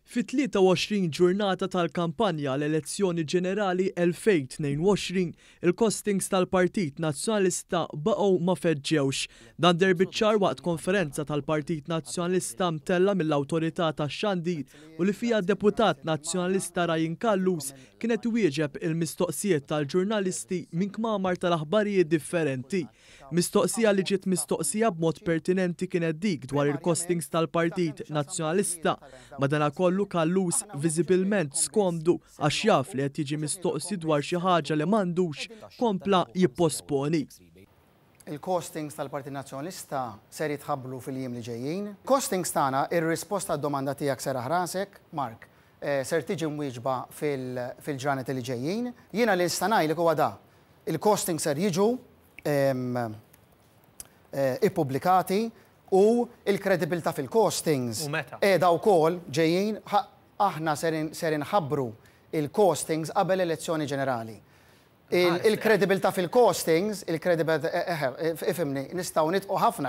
Fit-23 ġurnata tal-kampanja għall-elezzjoni ġenerali 2022, il-costings tal-Partit Nazzjonalista baqgħu ma feġġewx. Dan deher biċ-ċar waqt konferenza tal-Partit Nazzjonalista mtellgħa mill-Awtorità tax-Xandir u li fiha d-Deputat Nazzjonalista Ryan Callus kien qed iwieġeb il-mistoqsijiet tal-ġurnalisti minn kmamar tal-aħbarijiet differenti. Mistoqsija li ġiet mistoqsija b'mod pertinenti kienet dik dwar il-costings tal-Partit Nazzjonalista. Madanakollu Callus viżibilment skomdu għax jaf li qed jiġi mistoqsi dwar xi ħaġa li m'għandux, kompla jipposponi. Il-costings tal-Partit Nazzjonalista ser jitħabbru fil-jiem li ġejjin. Costings tagħna, ir-risposta għad-domanda tiegħek serraħ rasek, Mark, ser tiġi mwieġba fil-ġranet li ġejjin. Jiena li nista' ngħidlek huwa da, Il-costings ser jiġu ippubblikati u l-kredibilità fil-costings qiegħda wkoll ġejjin. Aħna ser inħabbru l-costings qabel l-elezzjoni ġenerali. Il-kredibilità fil-costings, il-kredibilità, ifhimni, nistgħu nidħqu ħafna.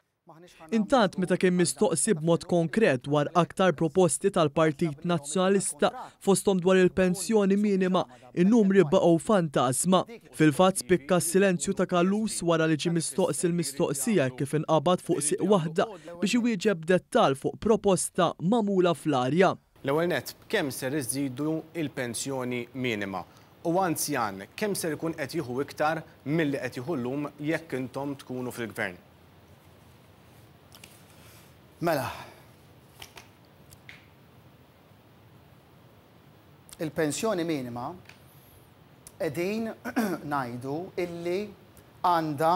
Intant meta kien mistoqsi b'mod konkret dwar aktar proposti tal-Partit Nazzjonalista fosthom dwar il-pensjoni minima, in-numri baqgħu fantażma. Fil-fatt spikka s-silenzju ta' Callus wara li ġie mistoqsi l-mistoqsija hekk kif inqabad fuq sieq waħda biex iwieġeb b'dettall fuq proposta magħmula fl-arja. L-ewwel nett, b'kemm ser iżżidu l-pensjoni minima? U anzjan kemm ser ikun qed jieħu iktar milli qed jieħu llum jekk intom tkunu fil-Gvern? Mela. Il-pensjoni minima qegħdin ngħidu illi għandha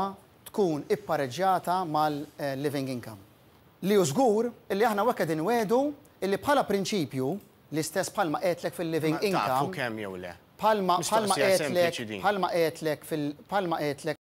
tkun ippareġġjata mal-living income. Li hu żgur illi aħna hawnhekk qegħdin nwegħdu illi bħala prinċipju, l-istess bħalma għedtlek fil-living income. Tafu kemm jew le? Bħalma bħalma għedtlek bħalma għedtlek fil bħalma għedtlek.